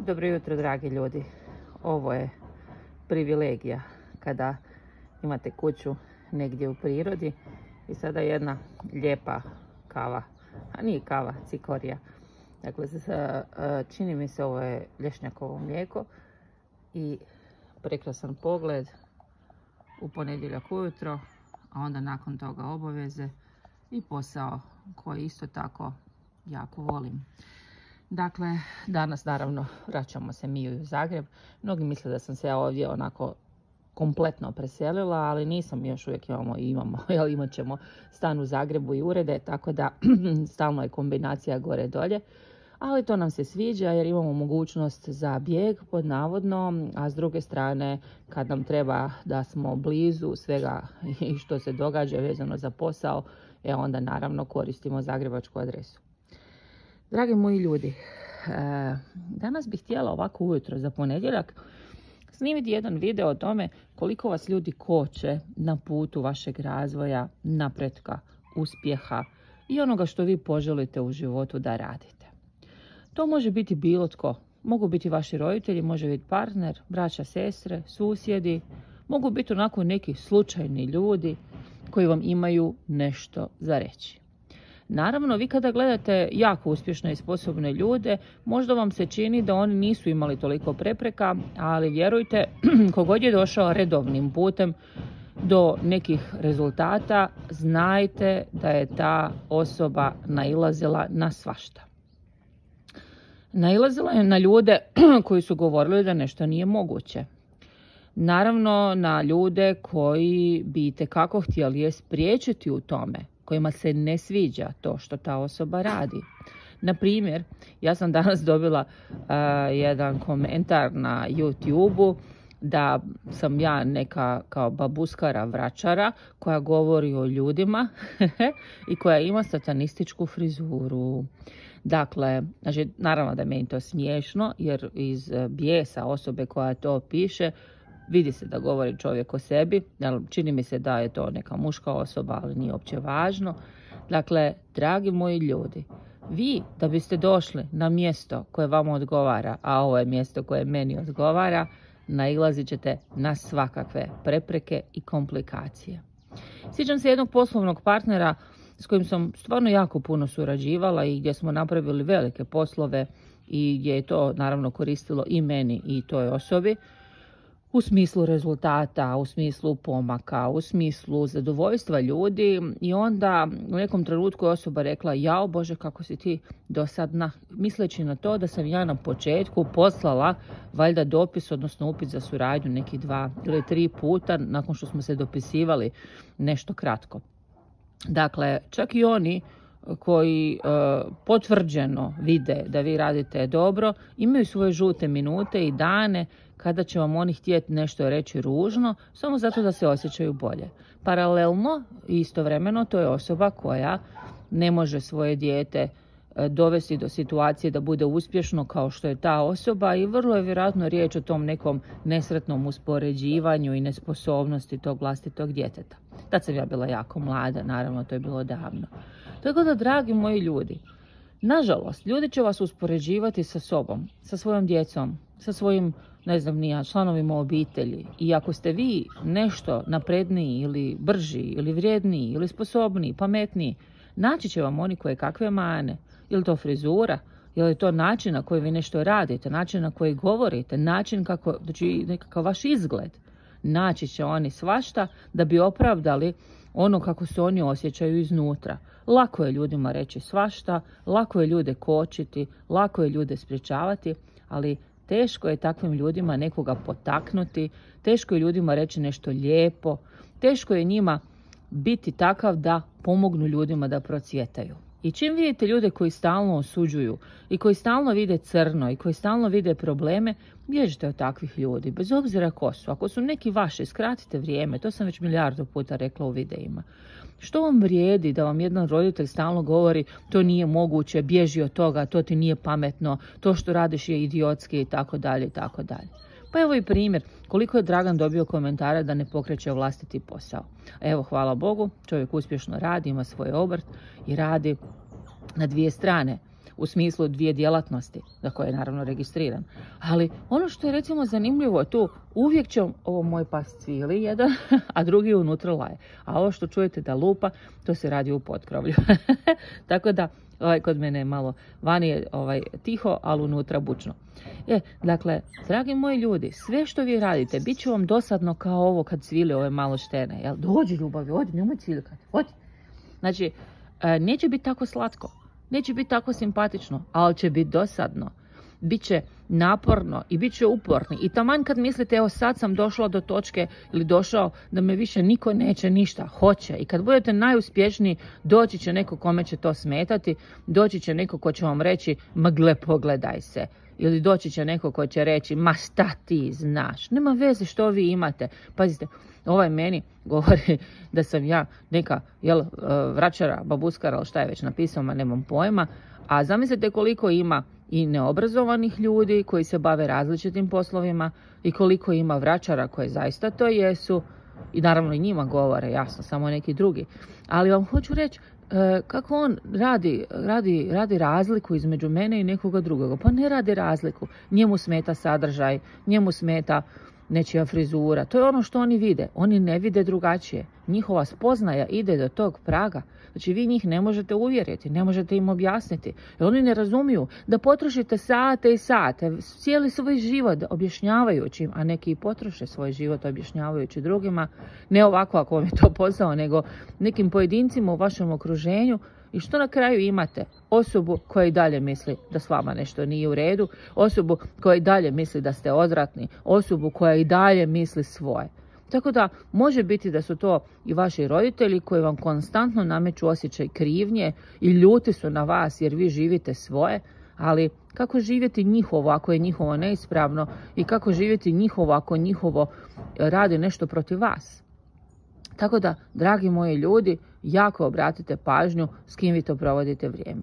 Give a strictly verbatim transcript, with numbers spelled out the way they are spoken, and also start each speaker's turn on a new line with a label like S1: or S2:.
S1: Dobro jutro, dragi ljudi. Ovo je privilegija kada imate kuću negdje u prirodi i sada jedna lijepa kava, a nije kava, cikorija. Dakle, čini mi se ovo je lješnjakovo mlijeko i prekrasan pogled u ponedjeljak ujutro, a onda nakon toga obaveze i posao koji isto tako jako volim. Dakle, danas naravno vraćamo se mi u Zagreb. Mnogi misle da sam se ja ovdje onako kompletno preselila, ali nisam, još uvijek imamo, imamo, jel, imat ćemo stan u Zagrebu i urede, tako da stalno je kombinacija gore dolje. Ali to nam se sviđa jer imamo mogućnost za bijeg pod navodno, a s druge strane kad nam treba da smo blizu svega i što se događa vezano za posao, e onda naravno koristimo zagrebačku adresu. Dragi moji ljudi, danas bih htjela ovako ujutro za ponedjeljak snimiti jedan video o tome koliko vas ljudi koče na putu vašeg razvoja, napretka, uspjeha i onoga što vi poželite u životu da radite. To može biti bilo tko. Mogu biti vaši roditelji, može biti partner, braća, sestre, susjedi, mogu biti onako neki slučajni ljudi koji vam imaju nešto za reći. Naravno, vi kada gledate jako uspješne i sposobne ljude, možda vam se čini da oni nisu imali toliko prepreka, ali vjerujte, kogod je došao redovnim putem do nekih rezultata, znajte da je ta osoba nailazila na svašta. Nailazila je na ljude koji su govorili da nešto nije moguće. Naravno, na ljude koji bi itekako htjeli je spriječiti u tome, kojima se ne sviđa to što ta osoba radi. Na primjer, ja sam danas dobila uh, jedan komentar na YouTube-u da sam ja neka kao babuskara vračara koja govori o ljudima i koja ima satanističku frizuru. Dakle, znači, naravno da je meni to smiješno jer iz bijesa osobe koja to piše vidi se da govori čovjek o sebi, čini mi se da je to neka muška osoba, ali nije uopće važno. Dakle, dragi moji ljudi, vi da biste došli na mjesto koje vama odgovara, a ovo je mjesto koje meni odgovara, nailazit ćete na svakakve prepreke i komplikacije. Sjećam se jednog poslovnog partnera s kojim sam stvarno jako puno surađivala i gdje smo napravili velike poslove i gdje je to naravno koristilo i meni i toj osobi. U smislu rezultata, u smislu pomaka, u smislu zadovoljstva ljudi i onda u nekom trenutku je osoba rekla jao Bože kako si ti dosadna, misleći na to da sam ja na početku poslala valjda dopis, odnosno upit za suradnju neki dva ili tri puta nakon što smo se dopisivali nešto kratko. Dakle, čak i oni koji e, potvrđeno vide da vi radite dobro, imaju svoje žute minute i dane kada će vam oni htjeti nešto reći ružno, samo zato da se osjećaju bolje. Paralelno i istovremeno to je osoba koja ne može svoje dijete dovesti do situacije da bude uspješno kao što je ta osoba i vrlo je vjerojatno riječ o tom nekom nesretnom uspoređivanju i nesposobnosti tog vlastitog djeteta. Tad sam ja bila jako mlada, naravno to je bilo davno. Tako da, dragi moji ljudi, nažalost, ljudi će vas uspoređivati sa sobom, sa svojom djecom, sa svojim, ne znam nija, članovima obitelji. I ako ste vi nešto napredniji ili brži ili vrijedniji ili sposobniji, pametniji, naći će vam oni koje kakve mane. Ili to frizura, ili to način na koji vi nešto radite, način na koji govorite, način kako, znači nekakav vaš izgled. Naći će oni svašta da bi opravdali ono kako se oni osjećaju iznutra. Lako je ljudima reći svašta, lako je ljude kočiti, lako je ljude sprječavati, ali teško je takvim ljudima nekoga potaknuti, teško je ljudima reći nešto lijepo, teško je njima biti takav da pomognu ljudima da procvjetaju. I čim vidite ljude koji stalno osuđuju i koji stalno vide crno i koji stalno vide probleme, bježite od takvih ljudi, bez obzira ko su. Ako su neki vaši, skratite vrijeme, to sam već milijardu puta rekla u videima. Što vam vrijedi da vam jedan roditelj stalno govori to nije moguće, bježi od toga, to ti nije pametno, to što radiš je idiotski i tako dalje i tako dalje. Pa evo i primjer, koliko je Dragan dobio komentara da ne pokreće vlastiti posao. Evo, hvala Bogu, čovjek uspješno radi, ima svoj obrt i radi na dvije strane. u smislu dvije djelatnosti, za koje je naravno registriran. Ali ono što je recimo zanimljivo tu, uvijek će ovo moj pas cvili jedan, a drugi unutra laje. A ovo što čujete da lupa, to se radi u potkrovlju. Tako da, ovaj, kod mene je malo, vani je ovaj, tiho, ali unutra bučno. E, dakle, dragi moji ljudi, sve što vi radite, bit će vam dosadno kao ovo kad cvili ove malo štene. Jel? Dođi ljubavi, odi, nemoj cvilikati, odi. Znači, neće biti tako slatko, neće biti tako simpatično, ali će biti dosadno. Biće naporno i bit će uporni. I taman kad mislite, evo sad sam došla do točke ili došao da me više niko neće ništa, hoće. I kad budete najuspješniji, doći će neko kome će to smetati, doći će neko ko će vam reći, ma gle, pogledaj se. Ili doći će neko ko će reći, ma šta ti znaš, nema veze što vi imate. Pazite, ovaj meni govori da sam ja neka jel, vračara, babuskara, ali šta je već napisao, ma nemam pojma. A zamislite koliko ima i neobrazovanih ljudi koji se bave različitim poslovima i koliko ima vračara koje zaista to jesu. I naravno i njima govore, jasno, samo neki drugi. Ali vam hoću reći, kako on radi, radi, radi razliku između mene i nekoga drugoga. Pa ne radi razliku. Njemu smeta sadržaj, njemu smeta nečija frizura. To je ono što oni vide. Oni ne vide drugačije. Njihova spoznaja ide do tog praga. Znači vi njih ne možete uvjeriti, ne možete im objasniti. Jer oni ne razumiju da potrošite sate i sate, cijeli svoj život objašnjavajući im, a neki i potroše svoj život objašnjavajući drugima, ne ovako ako vam je to posao, nego nekim pojedincima u vašem okruženju. I što na kraju imate? Osobu koja i dalje misli da s vama nešto nije u redu, osobu koja i dalje misli da ste odvratni, osobu koja i dalje misli svoje. Tako da može biti da su to i vaši roditelji koji vam konstantno nameću osjećaj krivnje i ljuti su na vas jer vi živite svoje, ali kako živjeti njihovo ako je njihovo neispravno i kako živjeti njihovo ako njihovo radi nešto protiv vas. Tako da, dragi moji ljudi, jako obratite pažnju s kim vi to provodite vrijeme.